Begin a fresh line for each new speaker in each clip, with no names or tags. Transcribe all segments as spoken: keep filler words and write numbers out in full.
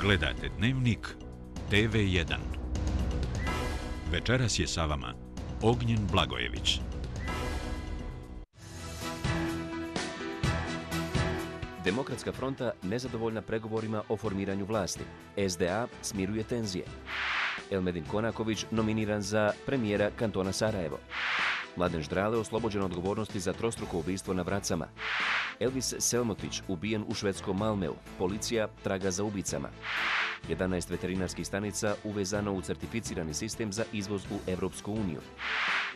Gledate Dnevnik te ve jedan. Večeras je sa vama Ognjen Blagojević.
Demokratska fronta nezadovoljna pregovorima o formiranju vlasti. es de a smiruje tenzije. Elmedin Konaković nominiran za premijera kantona Sarajevo. Mladen Ždrale oslobođen odgovornosti za trostruko ubistvo na Vracama. Elvis Selmotić ubijen u švedskom Malmeu. Policija traga za ubicama. jedanaest veterinarskih stanica uvezano u certificirani sistem za izvoz u Evropsku uniju.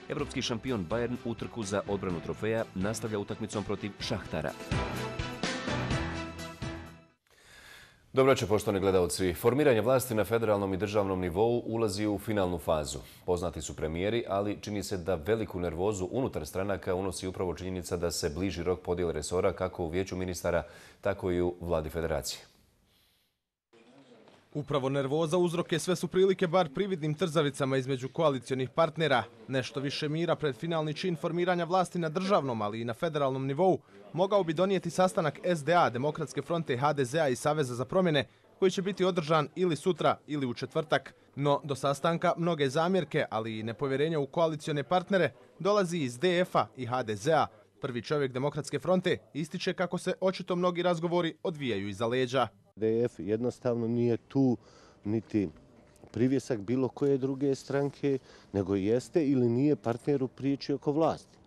Evropski šampion Bayern utrku za odbranu trofeja nastavlja utakmicom protiv Šahtara.
Dobro večer, poštovani gledalci. Formiranje vlasti na federalnom i državnom nivou ulazi u finalnu fazu. Poznati su premijeri, ali čini se da veliku nervozu unutar stranaka unosi upravo činjenica da se bliži rok podjele resora kako u Vijeću ministara, tako i u Vladi Federacije.
Upravo nervoza uzroke sve su prilike bar prividnim trzavicama između koalicionih partnera. Nešto više mira pred finalni čin formiranja vlasti na državnom, ali i na federalnom nivou mogao bi donijeti sastanak es de a, Demokratske fronte, ha de zea i Saveza za promjene, koji će biti održan ili sutra ili u četvrtak. No, do sastanka mnoge zamjerke, ali i nepovjerenja u koalicione partnere dolazi iz de efa i ha de zea. Prvi čovjek Demokratske fronte ističe kako se očito mnogi razgovori odvijaju iza leđa.
de ef jednostavno nije tu niti privjesak bilo koje druge stranke, nego jeste ili nije partner u priči oko vlasti.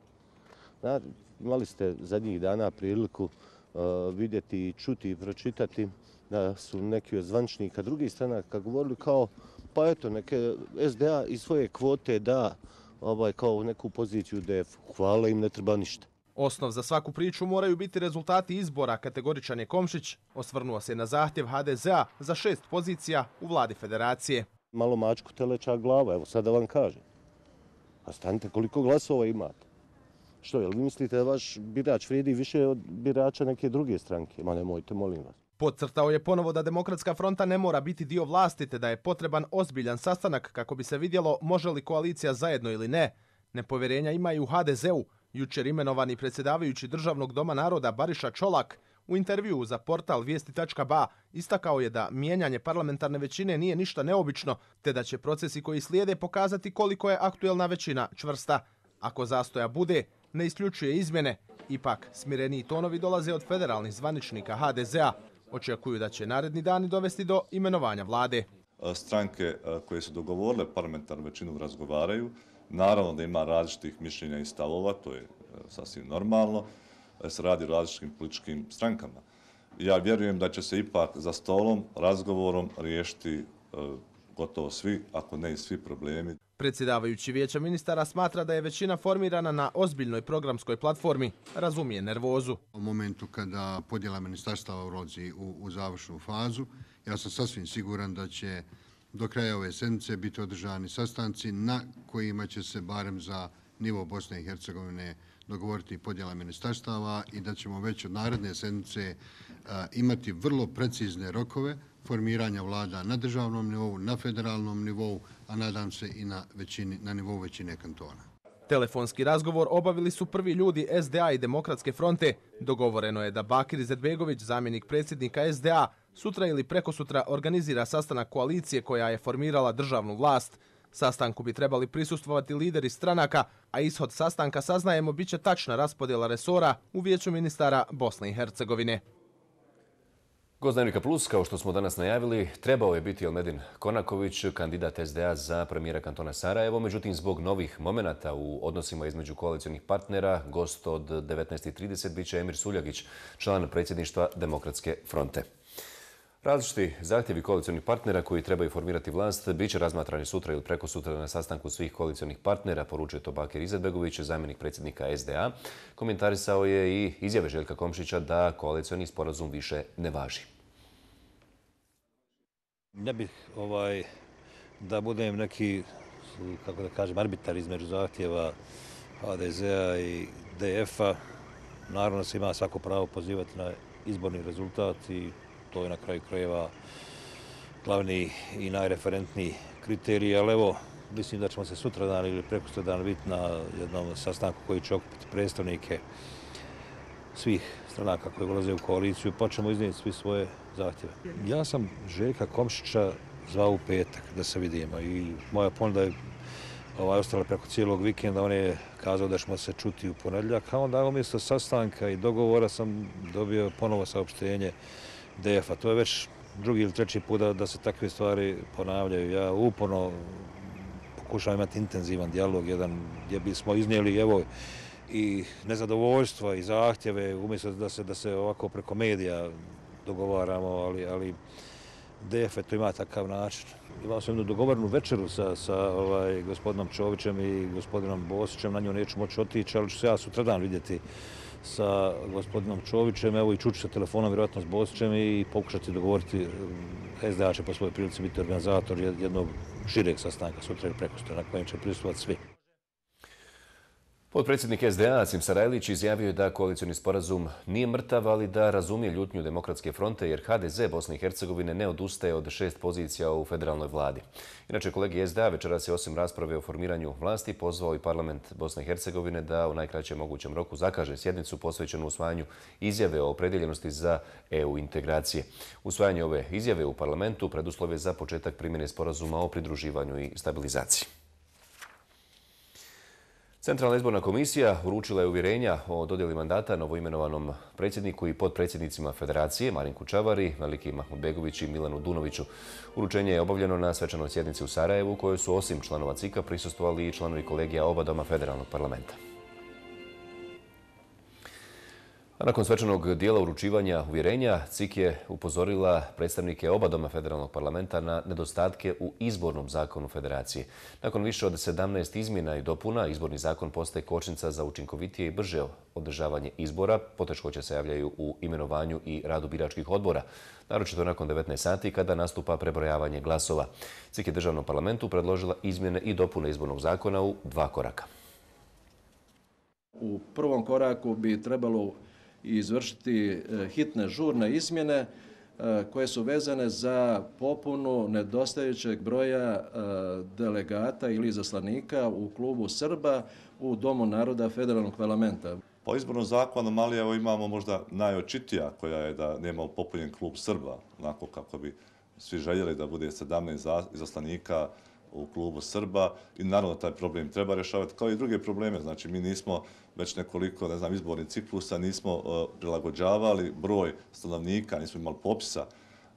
Znate, imali ste zadnjih dana priliku uh, vidjeti, čuti i pročitati da su neki od zvančnika drugih stranaka govorili kao pa eto, neke es de a iz svoje kvote da ovaj, kao neku poziciju de efu. Hvala im, ne treba ništa.
Osnov za svaku priču moraju biti rezultati izbora, kategoričan je Komšić. Osvrnuo se na zahtjev ha de zea za šest pozicija u Vladi Federacije.
Malo mačku teleća glava, evo sad da vam kažem. A stanite koliko glasova imate. Što, jel vi mislite da vaš birač vrijedi više od birača neke druge stranke? Ma nemojte, molim vas.
Podcrtao je ponovo da Demokratska fronta ne mora biti dio vlasti, te da je potreban ozbiljan sastanak kako bi se vidjelo može li koalicija zajedno ili ne. Nepovjerenja ima i u ha de zeu. Jučer imenovani predsjedavajući Državnog doma naroda Bariša Čolak u intervjuu za portal vijesti tačka ba istakao je da mijenjanje parlamentarne većine nije ništa neobično, te da će procesi koji slijede pokazati koliko je aktuelna većina čvrsta. Ako zastoja bude, ne isključuje izmjene. Ipak, smireniji tonovi dolaze od federalnih zvaničnika ha de zea. Očekuju da će naredni dani dovesti do imenovanja vlade.
Stranke koje su dogovorile parlamentarnu većinu razgovaraju. Naravno da ima različitih mišljenja i stavova, to je sasvim normalno, se radi o različitim političkim strankama. Ja vjerujem da će se ipak za stolom, razgovorom riješiti gotovo svi, ako ne i svi problemi.
Predsjedavajući Vijeća ministara smatra da je većina formirana na ozbiljnoj programskoj platformi, razumije nervozu.
U momentu kada podjela ministarstava ulazi u, u završnu fazu, ja sam sasvim siguran da će do kraja ove sedmice biti održani sastanci na kojima će se barem za nivo Bosne i Hercegovine dogovoriti podjela ministarstava i da ćemo već od naredne sedmice a, imati vrlo precizne rokove formiranja vlada na državnom nivou, na federalnom nivou, a nadam se i na, većini, na nivou većine kantona.
Telefonski razgovor obavili su prvi ljudi es de a i Demokratske fronte. Dogovoreno je da Bakir Izetbegović, zamjenik predsjednika es de a, sutra ili prekosutra organizira sastanak koalicije koja je formirala državnu vlast. Sastanku bi trebali prisustvovati lideri stranaka, a ishod sastanka, saznajemo, bit će tačna raspodjela resora u Vijeću ministara Bosne i Hercegovine.
Gost Dnevnika Plus, kao što smo danas najavili, trebao je biti Elmedin Konaković, kandidat es de a za premijera kantona Sarajevo. Međutim, zbog novih momenata u odnosima između koalicionih partnera, gost od devetnaest i trideset bit će Emir Suljagić, član predsjedništva Demokratske fronte. Različiti zahtjevi koalicionih partnera koji trebaju formirati vlast bit će razmatrani sutra ili prekosutra na sastanku svih koalicionih partnera, poručuje to Bakir Izetbegović, zamjenik predsjednika es de a. Komentarisao je i izjave Željka Komšića da koalicioni sporazum više ne važi.
Ne bih ovaj, da budem neki, kako da kažem, arbitar između zahtjeva ha de zea i de efa. Naravno se ima svako pravo pozivati na izborni rezultat i to je na kraju krajeva glavni i najreferentniji kriterij, ali evo, mislim da ćemo se sutradan ili prekosutradan biti na jednom sastanku koji će okupiti predstavnike svih stranaka koji ulaze u koaliciju, pa ćemo iznijeti svi svoje zahtjeve. Ja sam Željka Komšića zvao u petak da se vidimo i moja ponuda je ovaj, ostala preko cijelog vikenda. On je kazao da ćemo se čuti u ponedjeljak, a onda umjesto sastanka i dogovora sam dobio ponovo saopštenje D F-a. To je već drugi ili treći put da, da se takve stvari ponavljaju. Ja uporno pokušavam imati intenzivan dijalog, jedan gdje bismo iznijeli evo, i nezadovoljstva i zahtjeve, umjesto da se, da se ovako preko medija dogovaramo, ali, ali D F to ima takav način. Imao sam jednu dogovornu večeru sa, sa ovaj, gospodinom Čovićem i gospodinom Bosićem, na nju neću moći otići, ali ću se ja sutradan vidjeti sa gospodinom Čovićem, evo i čuću sa telefonom, vjerojatno s Bosićem i pokušati dogovoriti. S D A će po svojoj prilici biti organizator jednog šireg sastanka sutra ili prekosutra na kojem će prisustvovati svi.
Potpredsjednik S D A Asim Sarajlić izjavio je da koalicioni sporazum nije mrtav, ali da razumije ljutnju Demokratske fronte jer H D Z Bosne i Hercegovine ne odustaje od šest pozicija u federalnoj vladi. Inače, kolegi S D A večeras je osim rasprave o formiranju vlasti pozvao i parlament Bosne i Hercegovine da u najkraćem mogućem roku zakaže sjednicu posvećenu usvajanju izjave o opredjeljenosti za E U integracije. Usvajanje ove izjave u parlamentu preduslov je za početak primjene sporazuma o pridruživanju i stabilizaciji. Centralna izborna komisija uručila je uvjerenja o dodjeli mandata novoimenovanom predsjedniku i potpredsjednicima Federacije Marinku Čavari, Meliki Mahmudbegović i Milanu Dunoviću. Uručenje je obavljeno na svečanoj sjednici u Sarajevu, u kojoj su osim članova C I K-a prisustvovali i članovi kolegija oba doma federalnog parlamenta. A nakon svečanog dijela uručivanja uvjerenja, C I K je upozorila predstavnike oba doma federalnog parlamenta na nedostatke u izbornom zakonu Federacije. Nakon više od sedamnaest izmjena i dopuna, izborni zakon postaje kočnica za učinkovitije i brže održavanje izbora. Poteškoće se javljaju u imenovanju i radu biračkih odbora, naročito nakon devetnaest sati kada nastupa prebrojavanje glasova. C I K je državnom parlamentu predložila izmjene i dopune izbornog zakona u dva koraka.
U prvom koraku bi trebalo i izvršiti hitne žurne izmjene koje su vezane za popunu nedostajućeg broja delegata ili izaslanika u klubu Srba u Domu naroda federalnog parlamenta.
Po izbornom zakonu Mali evo imamo možda najočitija koja je da nema popunjen klub Srba, onako kako bi svi željeli da bude sedamnaest izaslanika u klubu Srba i naravno taj problem treba rješavati kao i druge probleme. Znači mi nismo već nekoliko, ne znam, izbornih ciklusa nismo uh, prilagođavali broj stanovnika, nismo imali popisa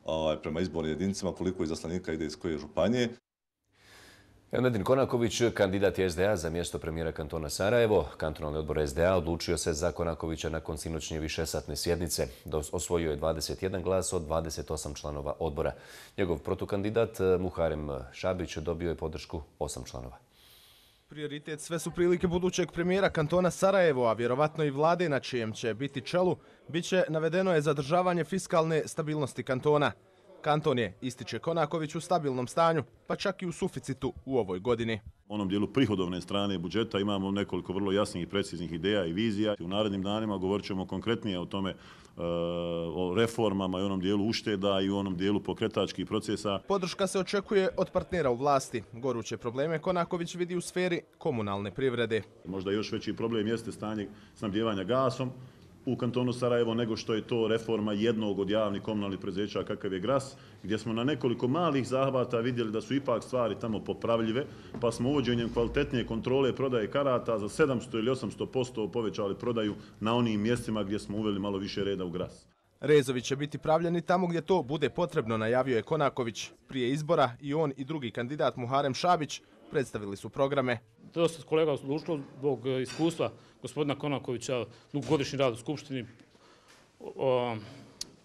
uh, prema izbornim jedinicama koliko izaslanika ide iz koje županije.
Elmedin Konaković, kandidat je S D A za mjesto premijera kantona Sarajevo. Kantonalni odbor S D A odlučio se za Konakovića nakon sinoćnje višesatne sjednice. Osvojio je dvadeset jedan glas od dvadeset osam članova odbora. Njegov protukandidat Muharem Šabić dobio je podršku osam članova.
Prioritet sve su prilike budućeg premijera kantona Sarajevo, a vjerovatno i vlade na čijem će biti čelu, bit će navedeno je zadržavanje fiskalne stabilnosti kantona. Kanton je, ističe Konaković, u stabilnom stanju, pa čak i u suficitu u ovoj godini.
U onom dijelu prihodovne strane budžeta imamo nekoliko vrlo jasnih i preciznih ideja i vizija. U narednim danima govorit ćemo konkretnije o tome, o reformama i onom dijelu ušteda i u onom dijelu pokretačkih procesa.
Podrška se očekuje od partnera u vlasti. Goruće probleme Konaković vidi u sferi komunalne privrede.
Možda još veći problem jeste stanje snabdijevanja gasom u kantonu Sarajevo nego što je to reforma jednog od javnih komunalnih preduzeća kakav je Gras, gdje smo na nekoliko malih zahvata vidjeli da su ipak stvari tamo popravljive, pa smo uvođenjem kvalitetnije kontrole prodaje karata za sedamsto ili osamsto posto povećali prodaju na onim mjestima gdje smo uveli malo više reda u Gras.
Rezovi će biti pravljeni tamo gdje to bude potrebno, najavio je Konaković. Prije izbora i on i drugi kandidat Muharem Šabić predstavili su programe.
Dosta kolega odlučilo zbog iskustva gospodina Konakovića, dugogodišnji rad u Skupštini,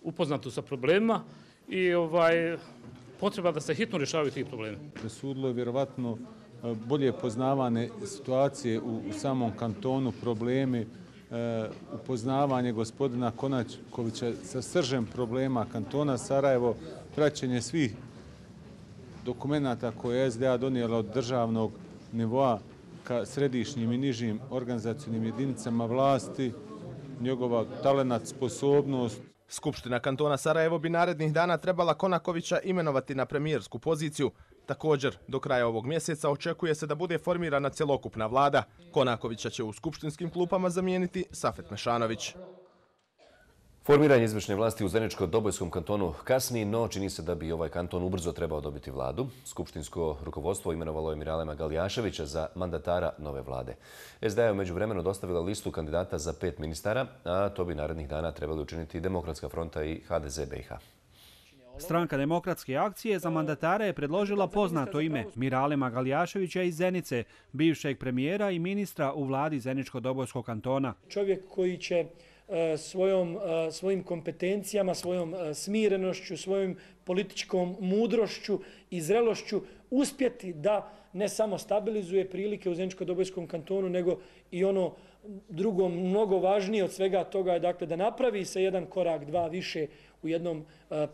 upoznato sa problemima i ovaj, potreba da se hitno rješavaju tih problema.
Presudilo je vjerovatno bolje poznavane situacije u, u samom kantonu, problemi, e, upoznavanje gospodina Konakovića sa sržem problema kantona Sarajevo, praćenje svih dokumenata koje je S D A donijela od državnog nivoa ka središnjim i nižim organizacijnim jedinicama vlasti, njegova talenat, sposobnost.
Skupština kantona Sarajevo bi narednih dana trebala Konakovića imenovati na premijersku poziciju. Također, do kraja ovog mjeseca očekuje se da bude formirana cjelokupna vlada. Konakovića će u skupštinskim klupama zamijeniti Safet Mešanović.
Formiranje izvršne vlasti u Zeničko-Dobojskom kantonu kasni, no čini se da bi ovaj kanton ubrzo trebao dobiti vladu. Skupštinsko rukovodstvo imenovalo je Miralema Galjaševića za mandatara nove vlade. S D A je u međuvremenu dostavila listu kandidata za pet ministara, a to bi narednih dana trebali učiniti Demokratska fronta i H D Z B i H.
Stranka Demokratske akcije za mandatara je predložila poznato ime Miralema Galjaševića iz Zenice, bivšeg premijera i ministra u vladi Zeničko-Dobojskog kantona.
Čovjek koji će svojom, svojim kompetencijama, svojom smirenošću, svojom političkom mudrošću i zrelošću uspjeti da ne samo stabilizuje prilike u Zeničko-Dobojskom kantonu, nego i ono drugo mnogo važnije od svega toga je dakle da napravi se jedan korak, dva više u jednom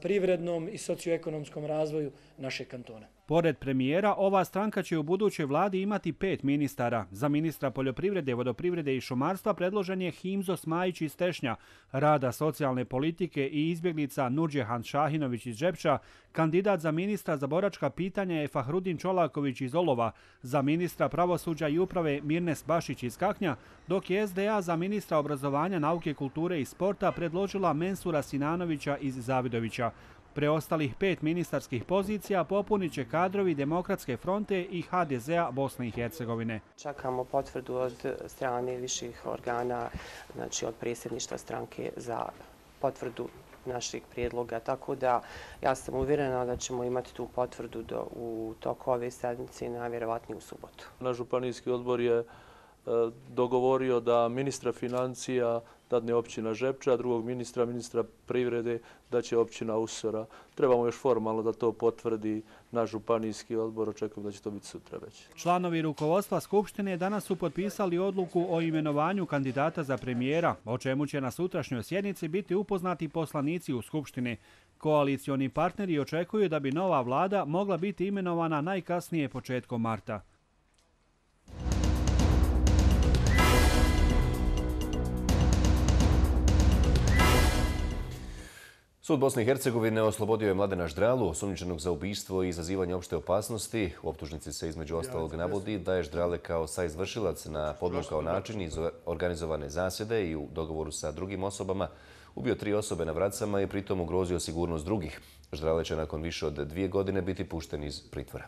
privrednom i socioekonomskom razvoju našeg kantona.
Pored premijera, ova stranka će u budućoj vladi imati pet ministara. Za ministra poljoprivrede, vodoprivrede i šumarstva predložen je Himzo Smajić iz Tešnja, rada, socijalne politike i izbjeglica Nurdžehan Šahinović iz Žepča. Kandidat za ministra za boračka pitanja je Fahrudin Čolaković iz Olova, za ministra pravosuđa i uprave Mirnes Bašić iz Kaknja, dok je S D A za ministra obrazovanja, nauke, kulture i sporta predložila Mensura Sinanovića iz Zavidovića. Preostalih pet ministarskih pozicija popunit će kadrovi Demokratske fronte i H D Z A Bosne i Hercegovine.
Čekamo potvrdu od strane viših organa, znači od predsjedništva stranke za potvrdu naših prijedloga, tako da ja sam uvjerena da ćemo imati tu potvrdu do, u toku ove sedmice i najvjerovatnije u subotu.
Naš županijski odbor je dogovorio da ministra financija dadne općina Žepča, a drugog ministra, ministra privrede, da će općina Usora. Trebamo još formalno da to potvrdi naš županijski odbor, očekujem da će to biti sutra već.
Članovi rukovodstva Skupštine danas su potpisali odluku o imenovanju kandidata za premijera, o čemu će na sutrašnjoj sjednici biti upoznati poslanici u Skupštini. Koalicioni partneri očekuju da bi nova vlada mogla biti imenovana najkasnije početkom marta.
Sud Bosne i Hercegovine oslobodio je Mladena Ždralu, osumnjičenog za ubistvo i izazivanje opšte opasnosti. U optužnici se između ostalog navodi da je Ždrale kao saizvršilac na podmukao način iz organizovane zasjede i u dogovoru sa drugim osobama ubio tri osobe na Vracama i pritom ugrozio sigurnost drugih. Ždrale će nakon više od dvije godine biti pušten iz pritvora.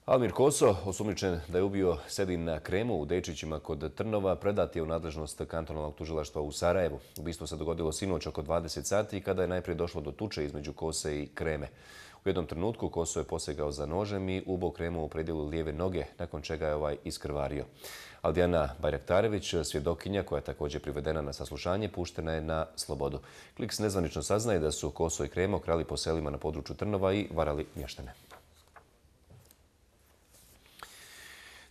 Almir Koso, osumnjičen da je ubio Sedin na Kremu u Dejčićima kod Trnova, predat je u nadležnost kantonalnog tužilaštva u Sarajevu. Ubistvo se dogodilo sinoć oko dvadeset sati kada je najprije došlo do tuče između Kose i Kreme. U jednom trenutku Koso je posegao za nožem i ubao Kremu u predjelu lijeve noge, nakon čega je ovaj iskrvario. Aldijana Bajraktarević, svjedokinja koja je također privedena na saslušanje, puštena je na slobodu. Kliks nezvanično saznaje da su Koso i Kremo krali po selima na području Trnova i varali mještane.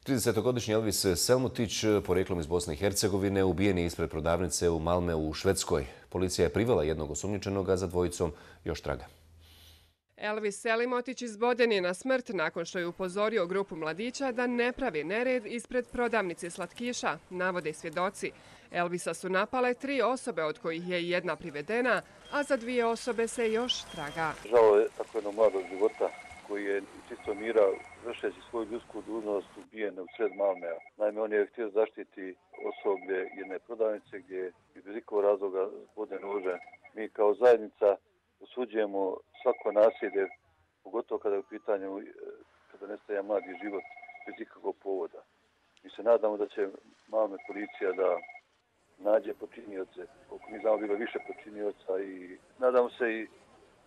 tridesetogodišnji Elvis Selmutić, porijeklom iz Bosne i Hercegovine, ubijen je ispred prodavnice u Malmeu u Švedskoj. Policija je privela jednog osumnjičenog, a za dvojicom još traga.
Elvis Selimotić izboden je na smrt nakon što je upozorio grupu mladića da ne pravi nered ispred prodavnice slatkiša, navode svjedoci. Elvisa su napale tri osobe, od kojih je jedna privedena, a za dvije osobe se još traga.
Žao je tako jednog mladog života koji je čisto mira vršeći svoju ljudsku dužnost ubijen u sred Malmea. Naime, on je htio zaštiti osoblje jedne prodavnice gdje je bez ikakvog razloga zbode nože. Mi kao zajednica osuđujemo svako nasilje, pogotovo kada je u pitanju kada nestaje mladi život bez ikakvog povoda. Mi se nadamo da će Malme policija da nađe počinioce, koliko mi znamo bilo više počinioca i nadamo se i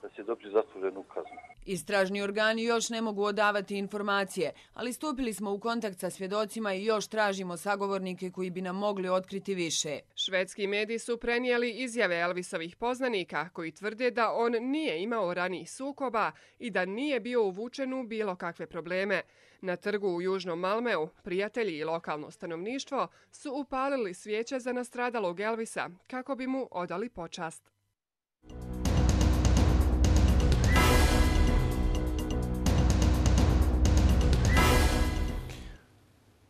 da će dobiti zasluženu kaznu.
Istražni organi još ne mogu odavati informacije, ali stupili smo u kontakt sa svjedocima i još tražimo sagovornike koji bi nam mogli otkriti više.
Švedski mediji su prenijeli izjave Elvisovih poznanika koji tvrde da on nije imao ranijih sukoba i da nije bio uvučen u bilo kakve probleme. Na trgu u Južnom Malmeu prijatelji i lokalno stanovništvo su upalili svijeće za nastradalog Elvisa kako bi mu odali počast.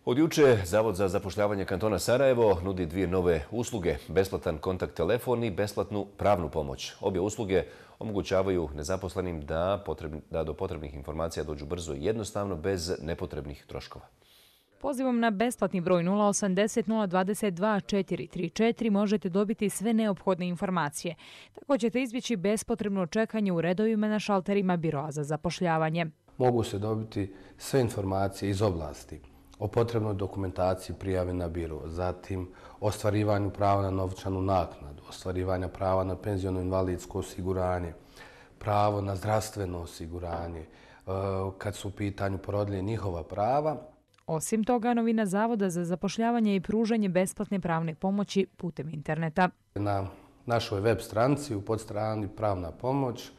Od juče Zavod za zapošljavanje kantona Sarajevo nudi dvije nove usluge, besplatan kontakt telefon i besplatnu pravnu pomoć. Obje usluge omogućavaju nezaposlenim da, potrebni, da do potrebnih informacija dođu brzo i jednostavno bez nepotrebnih troškova.
Pozivom na besplatni broj nula osamdeset nula dvadeset dva četiri tri četiri možete dobiti sve neophodne informacije. Tako ćete izbjeći bespotrebno čekanje u redovima na šalterima Biroa za zapošljavanje.
Mogu se dobiti sve informacije iz oblasti o potrebnoj dokumentaciji prijave na biro, zatim ostvarivanju prava na novčanu naknadu, ostvarivanja prava na penziono invalidsko osiguranje, pravo na zdravstveno osiguranje, kad su u pitanju porodilje njihova prava.
Osim toga, novina Zavoda za zapošljavanje i pružanje besplatne pravne pomoći putem interneta.
Na našoj web stranici u podstrani Pravna pomoć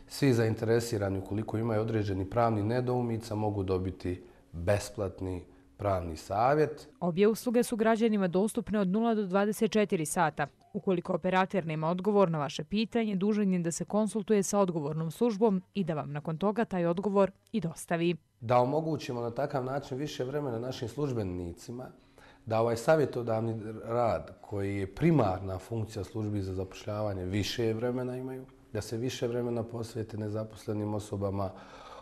svi zainteresirani ukoliko imaju određeni pravni nedoumica mogu dobiti besplatni pravni savjet.
Obje usluge su građanima dostupne od nula do dvadeset četiri sata. Ukoliko operater nema odgovor na vaše pitanje, dužan je da se konsultuje sa odgovornom službom i da vam nakon toga taj odgovor i dostavi.
Da omogućimo na takav način više vremena našim službenicima, da ovaj savjetodavni rad koji je primarna funkcija službi za zapošljavanje više vremena imaju, da se više vremena posvete nezaposlenim osobama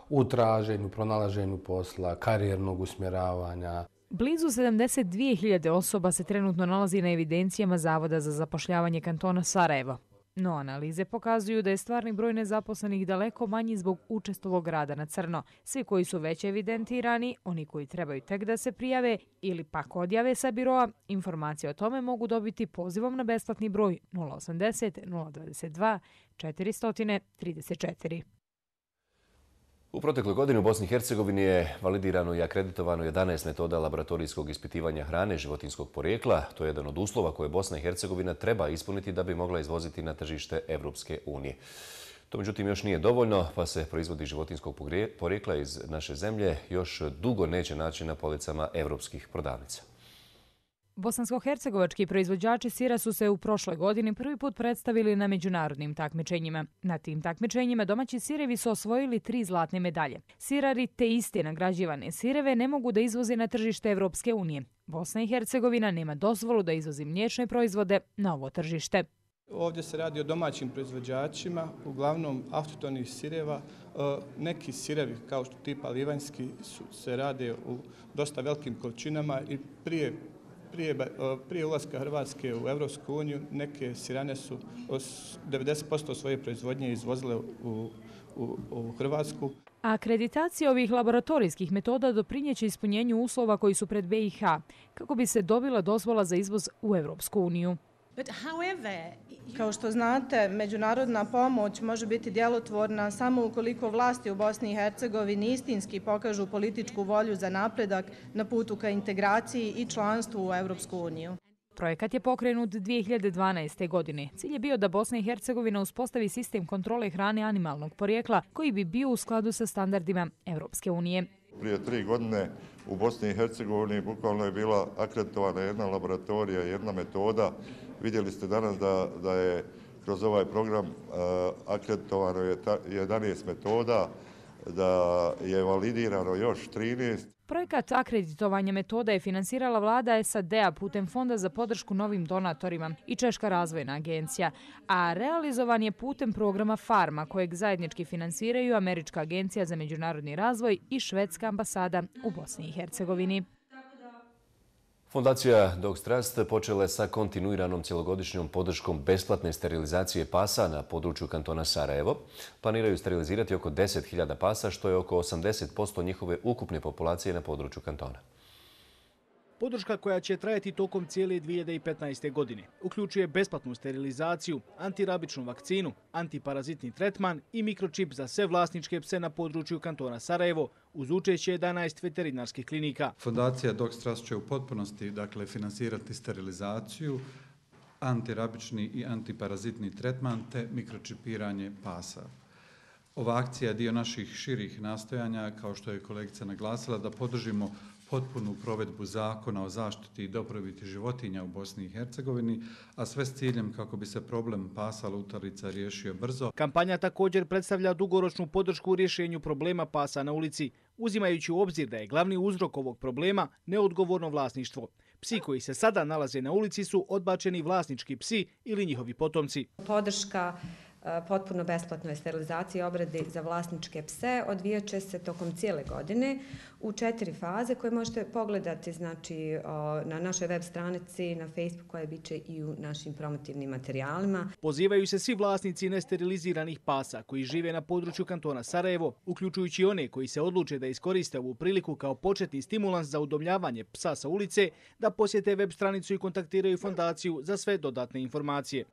u traženju, pronalaženju posla, karijernog usmjeravanja.
Blizu sedamdeset dvije hiljade osoba se trenutno nalazi na evidencijama Zavoda za zapošljavanje kantona Sarajevo. No analize pokazuju da je stvarni broj nezaposlenih daleko manji zbog učestalog rada na crno. Svi koji su već evidentirani, oni koji trebaju tek da se prijave ili pak odjave sa biroa, informacije o tome mogu dobiti pozivom na besplatni broj nula osamdeset nula dvadeset dva četiri tri četiri.
U protekloj godini u Bosni i Hercegovini je validirano i akreditovano jedanaest metoda laboratorijskog ispitivanja hrane životinjskog porijekla. To je jedan od uslova koje Bosna i Hercegovina treba ispuniti da bi mogla izvoziti na tržište Evropske unije. To međutim još nije dovoljno, pa se proizvodi životinjskog porijekla iz naše zemlje još dugo neće naći na policama evropskih prodavnica.
Bosansko-hercegovački proizvođači sira su se u prošloj godini prvi put predstavili na međunarodnim takmičenjima. Na tim takmičenjima domaći sirevi su osvojili tri zlatne medalje. Sirari te iste nagrađivane sireve ne mogu da izvoze na tržište Evropske unije. Bosna i Hercegovina nema dozvolu da izvozi mliječne proizvode na ovo tržište.
Ovdje se radi o domaćim proizvođačima, uglavnom autohtonih sireva. Neki sirevi, kao što tipa livanjski, se rade u dosta velikim količinama i prije Prije, prije ulaska Hrvatske u Evropsku uniju neke sirane su devedeset posto svoje proizvodnje izvozile u, u, u Hrvatsku.
Akreditacija ovih laboratorijskih metoda doprinjeće ispunjenju uslova koji su pred B i H kako bi se dobila dozvola za izvoz u Evropsku uniju.
Kao što znate, međunarodna pomoć može biti djelotvorna samo ukoliko vlasti u Bosni i Hercegovini istinski pokažu političku volju za napredak na putu ka integraciji i članstvu u Evropsku uniju.
Projekat je pokrenut dvije hiljade dvanaeste. godine. Cilj je bio da Bosna i Hercegovina uspostavi sistem kontrole hrane animalnog porijekla koji bi bio u skladu sa standardima Evropske unije.
Prije tri godine u Bosni i Hercegovini bukvalno je bila akreditovana jedna laboratorija, jedna metoda. Vidjeli ste danas da, da je kroz ovaj program uh, akreditovano je jedanaest metoda, da je validirano još trinaest.
Projekat akreditovanja metoda je finansirala vlada S A D-a putem Fonda za podršku novim donatorima i Češka razvojna agencija, a realizovan je putem programa Farma kojeg zajednički finansiraju Američka agencija za međunarodni razvoj i Švedska ambasada u Bosni i Hercegovini.
Fondacija Dogs Trust počela je sa kontinuiranom cjelogodišnjom podrškom besplatne sterilizacije pasa na području kantona Sarajevo. Planiraju sterilizirati oko deset hiljada pasa, što je oko osamdeset posto njihove ukupne populacije na području kantona.
Podrška koja će trajati tokom cijele dvije hiljade petnaeste. godine uključuje besplatnu sterilizaciju, antirabičnu vakcinu, antiparazitni tretman i mikročip za sve vlasničke pse na području kantona Sarajevo uz učešće jedanaest veterinarskih klinika.
Fondacija Dogs Trust će u potpunosti dakle, finansirati sterilizaciju, antirabični i antiparazitni tretman te mikročipiranje pasa. Ova akcija je dio naših širih nastojanja, kao što je kolegica naglasila, da podržimo potpunu provedbu zakona o zaštiti i dobrobiti životinja u Bosni i Hercegovini, a sve s ciljem kako bi se problem pasa lutalica riješio brzo.
Kampanja također predstavlja dugoročnu podršku u rješenju problema pasa na ulici, uzimajući u obzir da je glavni uzrok ovog problema neodgovorno vlasništvo. Psi koji se sada nalaze na ulici su odbačeni vlasnički psi ili njihovi potomci.
Podrška
potpuno besplatnoj sterilizaciji i obradi za vlasničke pse odvijat će se tokom cijele godine u četiri faze koje možete pogledati znači, na našoj web stranici, na Facebooku, koje bit će i u našim promotivnim materijalima.
Pozivaju se svi vlasnici nesteriliziranih pasa koji žive na području kantona Sarajevo, uključujući one koji se odluče da iskoriste ovu priliku kao početni stimulans za udomljavanje psa sa ulice, da posjete web stranicu i kontaktiraju fondaciju za sve dodatne informacije.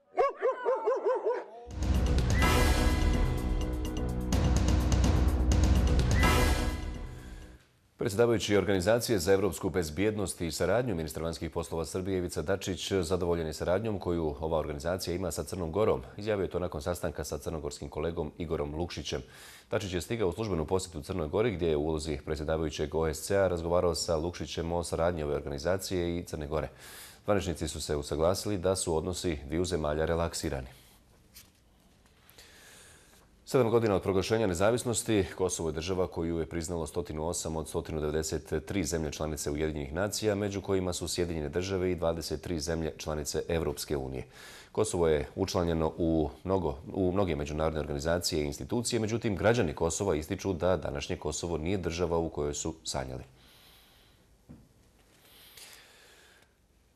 Predsjedavajući Organizacije za evropsku bezbjednost i saradnju, ministar vanjskih poslova Srbije Ivica Dačić zadovoljen je saradnjom koju ova organizacija ima sa Crnom Gorom. Izjavio je to nakon sastanka sa crnogorskim kolegom Igorom Lukšićem. Dačić je stigao u službenu posjetu Crnoj Gori gdje je u ulozi predsjedavajućeg O S C A razgovarao sa Lukšićem o saradnji ove organizacije i Crne Gore. Zvaničnici su se usaglasili da su odnosi dviju zemalja relaksirani. Sedam godina od proglašenja nezavisnosti, Kosovo je država koju je priznalo sto osam od sto devedeset tri zemlje članice Ujedinjenih nacija, među kojima su Sjedinjene države i dvadeset tri zemlje članice Evropske unije. Kosovo je učlanjeno u, mnogo, u mnoge međunarodne organizacije i institucije, međutim građani Kosova ističu da današnje Kosovo nije država u kojoj su sanjali.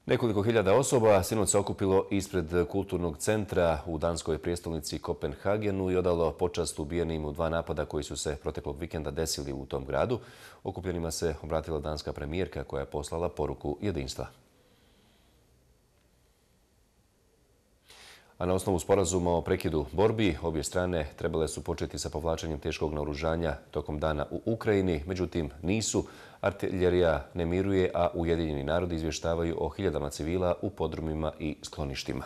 Nekoliko hiljada osoba sinoć se okupilo ispred kulturnog centra u danskoj prijestolnici Kopenhagenu i odalo počast ubijenim u dva napada koji su se proteklog vikenda desili u tom gradu. Okupljenima se obratila danska premijerka koja je poslala poruku jedinstva. A na osnovu sporazuma o prekidu borbi, obje strane trebale su početi sa povlačenjem teškog naoružanja tokom dana u Ukrajini, međutim nisu. Artiljerija ne miruje, a Ujedinjeni narodi izvještavaju o hiljadama civila u podrumima i skloništima.